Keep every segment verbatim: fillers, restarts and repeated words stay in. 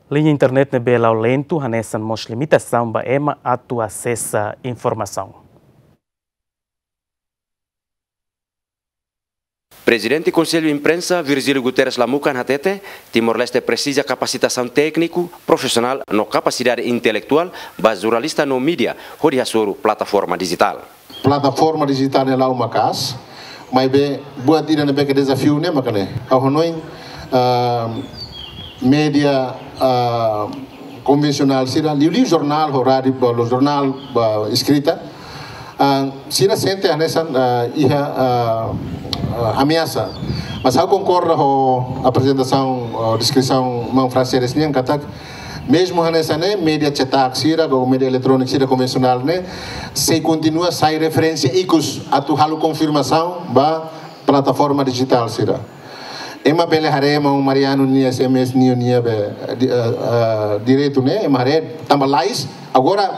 Liña internet ne'ebé la'o lentu hanesan mós limitasaun ba ema atu asesa informasaun. Prezidente Konsellu Imprensa, Virgílio Guterres Lamukan, hatete, Timor-Leste presiza kapasitasaun tékniku, profisionál no kapasidade intelektuál ba jornalista no mídia hodi hasoru plataforma dijitál. Plataforma dijitál ne'e la'o maka'as, maibé buat ida ne'ebé ke dezafiu ne'e mak ne'e. Ha'u hanoin, ah, mídia, ah, konvensionál sira, liuliu jornál ho rádiu, ba, jornál ba eskrita, ah, sira sente hanesan, ah, iha, ah, ah, ameasa. Mas ha'u konkorda ho aprezentasaun, ah, deskrisaun maun Francedes nian katak, mezmu hanesan ne'e, mídia cetak sira, ou mídia eletróniku sira konvensionál ne'e, sei kontinua sai referénsia ikus atu halo konfirmasaun ba plataforma dijitál sira. Ema bele haree maun Mariano nia S M S nian nia be, di-, eh, eh, direitu ne'e, ema haree tanba lais, agora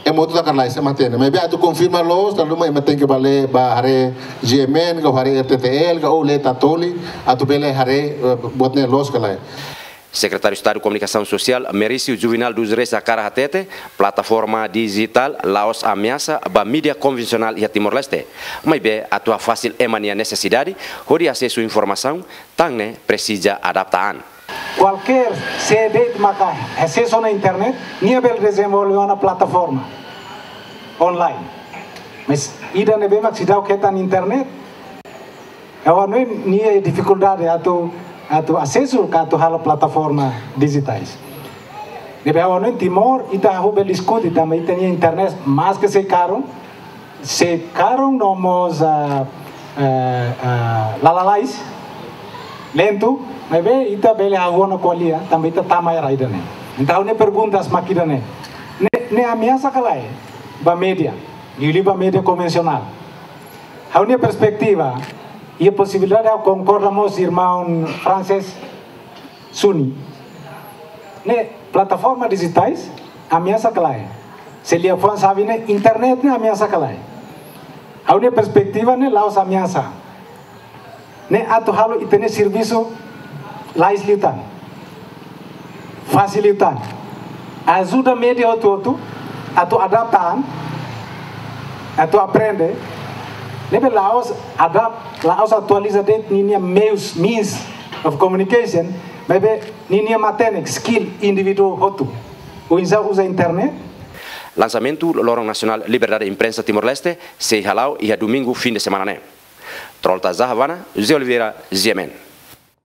ema hotu taka lais, ema hatene. Maibé atu konfirma loos, tanba ema tenke bá lee, bá haree G M N, ka haree R T T L, ka ou lee Tatoli, atu bele haree, eh, buat ne'e loos ka lae. Sekretáriu Estadu Komunikasaun Sosiál, Merício Juvenal dos Reis hakarak hatete, plataforma dijitál la'ós ameasa ba mídia konvensionál iha Timor-Leste. Maibé atu hafasil ema nia nesesidade hodi asesu informasaun, tan ne'e presiza adapta an. Kualkér sé de'it maka asesu ona internet, nia bele dezenvolve ona plataforma online. Mas ida ne'ebé mak seidauk hetan internet, ha'u hanoin nia difikuldade atu, atu asesu ka atu halo plataforma dijitais. Ne'ebé ha'u hanoin Timor, ita hahú bele diskute tanba ita-nia internet maske sei karun, sei karun no mós, ah, eh, ah, la lalais, lentu, maibé ita bele hahú ona ko'alia, tanba ita tama iha rai ida-ne'e. Entaun, ha'u-nia perguntas mak ida-ne'e. Ne'e, ne'e ameasa ka lae ba mídia, liuliu ba mídia konvensionál. Ha'u-nia perspetiva, iha posibilidade ha'u konkorda mós irmaun Francedes Suni. Ne'e plataforma dijitais ameasa ka lae. Se liafuan xave ne'e internet ne'e ameasa ka lae. Ha'u-nia perspetiva ne'e la'ós ameasa. Ne'e atu halo ita-nia servisu lais liután. Fasil liután. Ajuda mídia hotu-hotu atu adapta an, atu aprende. Ne'ebé la'ós adapt, la'ós atualiza de'it ninia meius, means of communication, maibé ninia matenek, skill indivíduu hotu. Oinsá uza internet. Lansamentu Loron Nasionál Liberdade Imprensa Timor-Leste sei hala'o iha domingu fin de semana ne'e. Trolta Zahavana, José Oliveira, G M N.